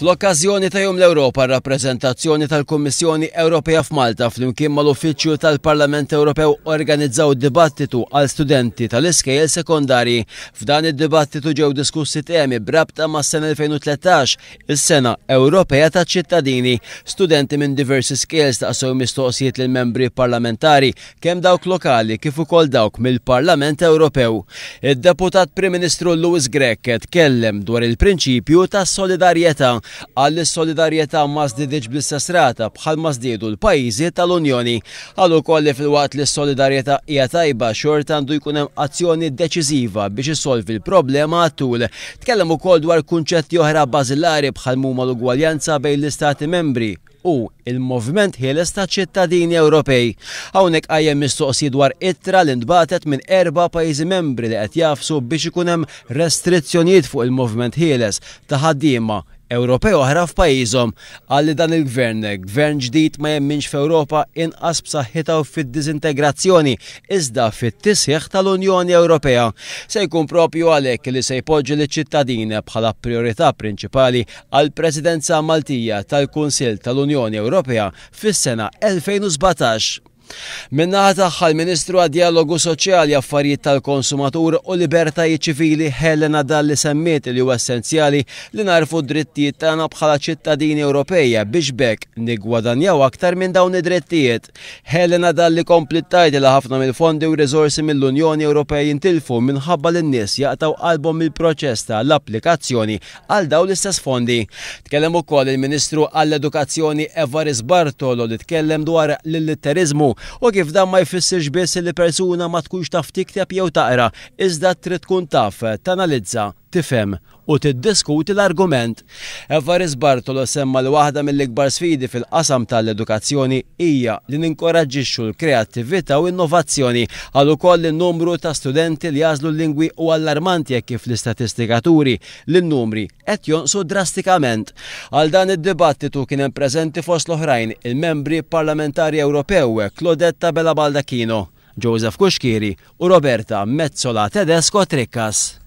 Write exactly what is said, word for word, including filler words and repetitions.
Fl-okkażjoni ta' Jum l-Ewropa, rappreżentazzjoni tal-Kummissjoni Ewropea f'Malta flimkien mal-Uffiċċju tal-Parlament Ewropew organizzaw dibattitu għal studenti tal-iskejjel sekondarji. F'dan id-dibattitu ġew diskussi temi b'rabta mas-sena elfejn u tlettax, is-sena Ewropea taċ-ċittadini. Studenti minn diversi skejjel staqsew mistoqsijiet lil membri parlamentari, kemm dawk lokali kif ukoll dawk mill-Parlament Ewropew. Id-Deputat Prim Ministru Louis Grech tkellem dwar il-prinċipju tas-solidarjetà. Qal li s-solidarjetà ma żdieditx bl-istess rata bħal ma żdiedu l-pajjiżi tal-Unjoni. Qal ukoll li filwaqt li s-solidarjetà hija tajba, xorta għandu jkun hemm azzjoni deċiżiva biex issolvi l-problema għat-tul. Tkellem ukoll dwar kunċetti oħra bażilari bħal huma l-ugwaljanza bejn l-istati membri u il-moviment ħieles ta' ċittadini Ewropej. Hawnhekk qajjem mistoqsijiet dwar ittra li ntbagħtet minn erba' pajjiżi membri li qed jafsu biex ikun hemm restrizzjonijiet fuq il-moviment ħieles ta' ħaddiema Ewropej oħra f'pajjiżhom. Qal li dan il-gvern, gvern ġdid, ma jemminx f'Ewropa inqas b'saħħitha u fid-diżintegrazzjoni, iżda fit-tisħiħ tal-Unjoni Ewropea. Se jkun propju għalhekk li se jpoġġi liċ-ċittadin bħala priorità prinċipali għall-Presidenza Maltija tal-Kunsill tal-Unjoni Ewropea fis-sena elfejn u sbatax. Min-naħa tagħha l-Ministru għad-Dialogu Soċjali, Affarijiet tal-Konsumatur u Libertajiet Ċivili Helena Dalli semmiet li huwa essenzjali li narfu d-drittijiet tagħna bħala ċittadini Ewropej biex b'hekk niggwadanjaw aktar minn dawn id-drittijiet. Helena Dalli kompliet tgħid li ħafna mill-fondi u riżorsi mill-Unjoni Ewropea jintilfu minħabba li n-nies jaqtgħu qalbhom mill-proċess tal-applikazzjoni għal dawn l-istess fondi. Tkellem ukoll il-Ministru għall-Edukazzjoni Evarist Bartolo li tkellem dwar l-illitteriżmu u kif dan ma jfissirx biss li persuna ma tkunx taf tikteb jew taqra, iżda trid tkun taf tanalizza, tifhem u tiddiskuti l-argument. Evarist Bartolo semma li waħda mill-ikbar sfidi fil-qasam tal-edukazzjoni hija li ninkoraġġixxu l-kreattività u innovazzjoni. Qal ukoll li n-numru ta' studenti li jagħżlu l-lingwi u allarmanti jekk kif l-istatistika turi li n-numri qed jonqsu drastikament. Għal dan id-dibattitu kien hemm preżenti fost l-oħrajn il-membri parlamentari Ewropew Claudette Abela Baldacchino, Joseph Cuschieri u Roberta Metsola Tedesco Trickas.